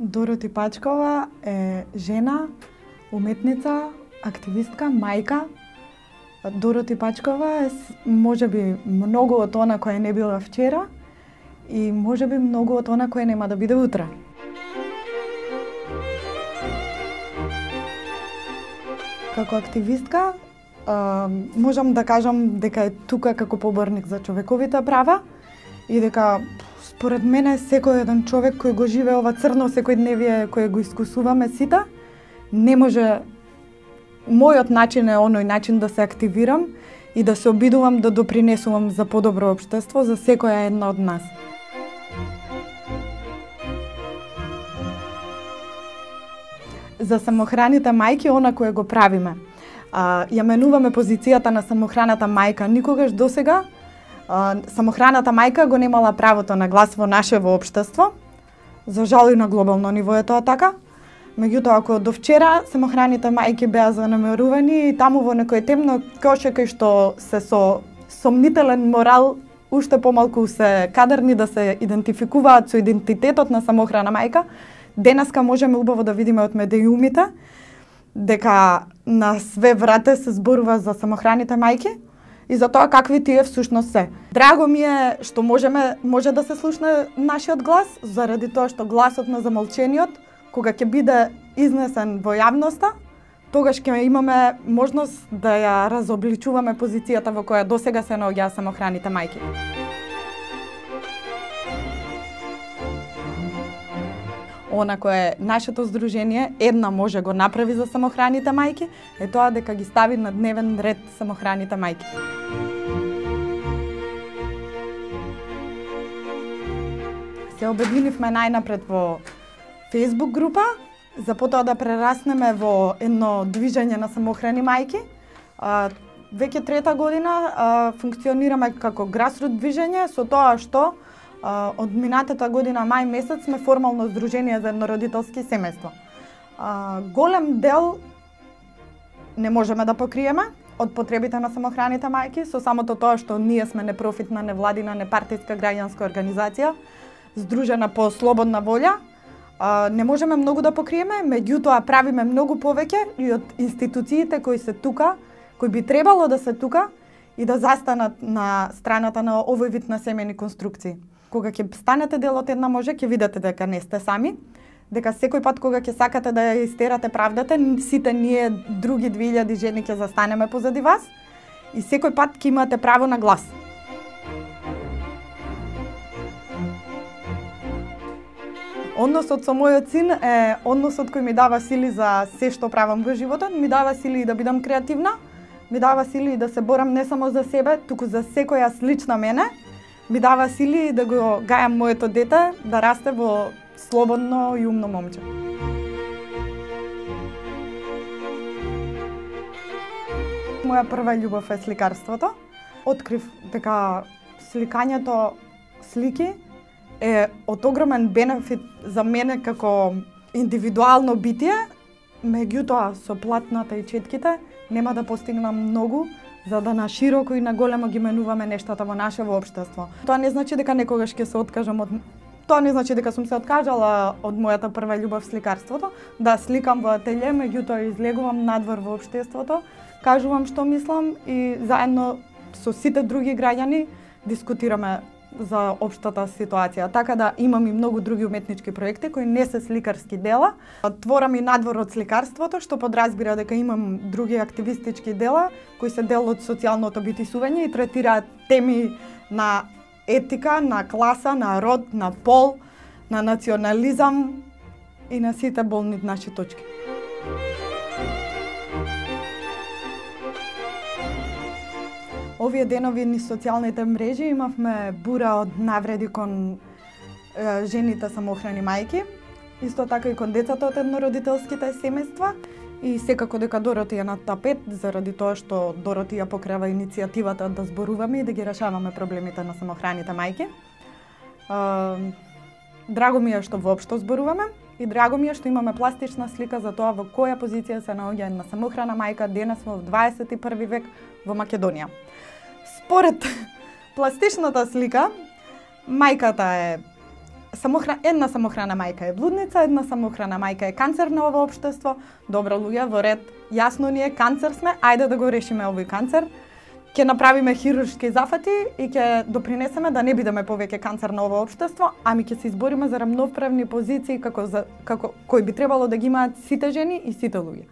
Дороти Пачкова е жена, уметница, активистка, мајка. Дороти Пачкова е можеби многу од она која не била вчера и можеби многу од она која нема да биде утре. Како активистка, можам да кажам дека е тука како поборник за човековите права и дека според мене секој еден човек кој го живее ова црно секојдневие кој го искусуваме сите, не може. Мојот начин е оној начин да се активирам и да се обидувам да допринесувам за подобро општество за секоја една од нас. За самохраните мајки, она кое го правиме. Ја менуваме позицијата на самохраната мајка. Никогаш досега самохраната мајка го немала правото на глас во нашево општество. За жал и на глобално ниво е тоа така. Меѓутоа, ако до вчера самохраните мајки беа занемарувани и таму во некој темно коше кај што се со сомнителен морал уште помалку се кадарни да се идентификуваат со идентитетот на самохрана мајка, денеска можеме убаво да видиме од медиумите дека на све врате се зборува за самохраните мајки и за тоа какви тие всушност се. Драго ми е што може да се слушне нашиот глас, заради тоа што гласот на замолчениот, кога ќе биде изнесен во јавноста, тогаш ќе имаме можност да ја разобличуваме позицијата во која досега се наоѓаа самохраните мајки. Она кое нашето здружение една може го направи за самохраните мајки е тоа дека ги стави на дневен ред самохраните мајки. Се обединивме најнапред во Facebook група, за потоа да прераснеме во едно движење на самохрани мајки. Веќе трета година функционираме како грасрут движење со тоа што од минатата година мај месец сме формално здружение за еднородителски семејства. Голем дел не можеме да покриеме од потребите на самохраните мајки со самото тоа што ние сме непрофитна, невладина, непартиска граѓанска организација, здружена по слободна волја. Не можеме многу да покриеме, меѓутоа правиме многу повеќе и од институциите кои се тука, кои би требало да се тука и да застанат на страната на овој вид на семејни конструкции. Кога ќе станете дел од една може, ќе видите дека не сте сами, дека секој пат кога ќе сакате да ја истерате правдата, сите ние други 2000 жени ќе застанеме позади вас и секој пат ќе имате право на глас. Односот со мојот син е односот кој ми дава сили за се што правам во животот, ми дава сили и да бидам креативна, ми дава сили и да се борам не само за себе, туку за секоја слична мене, ми дава сили да го гајам моето дете да расте во слободно и умно момче. Моја прва љубов е сликарството. Открив дека сликањето слики е од огромен бенефит за мене како индивидуално битие, меѓутоа со платната и четките нема да постигнам многу за да на широко и на големо ги менуваме нештата во нашево општество. Тоа не значи дека некогаш ќе се откажам од Тоа не значи дека сум се откажала од мојата прва љубов сликарството. Да, сликам во ателје, меѓутоа излегувам надвор во општеството, кажувам што мислам и заедно со сите други граѓани дискутираме за општата ситуација. Така да имам и многу други уметнички проекти кои не се сликарски дела. Творам и надвор од сликарството, што подразбира дека имам други активистички дела кои се дел од социјалното битисување и третираат теми на етика, на класа, на род, на пол, на национализам и на сите болни наши точки. Овие денови низ социјалните мрежи имавме бура од навреди кон жените самохрани мајки, исто така и кон децата од еднородителските семејства и секако дека Дороти е на тапет заради тоа што Дороти ја покрива иницијативата да зборуваме и да ги решаваме проблемите на самохраните мајки. Драго ми е што воопшто зборуваме и драго ми е што имаме пластична слика за тоа во која позиција се наоѓа една самохрана мајка денес во 21 век во Македонија. Според пластичната слика, мајката е една самохрана мајка е блудница, една самохрана мајка е канцер на ова општество. Добро луѓе, во ред, јасно ни е, канцер сме, ајде да го решиме овој канцер. Ќе направиме хируршки зафати и ќе допринесеме да не бидеме повеќе канцер на ова општество, ами ќе се избориме за рамноправни позиции како кои би требало да ги имаат сите жени и сите луѓе.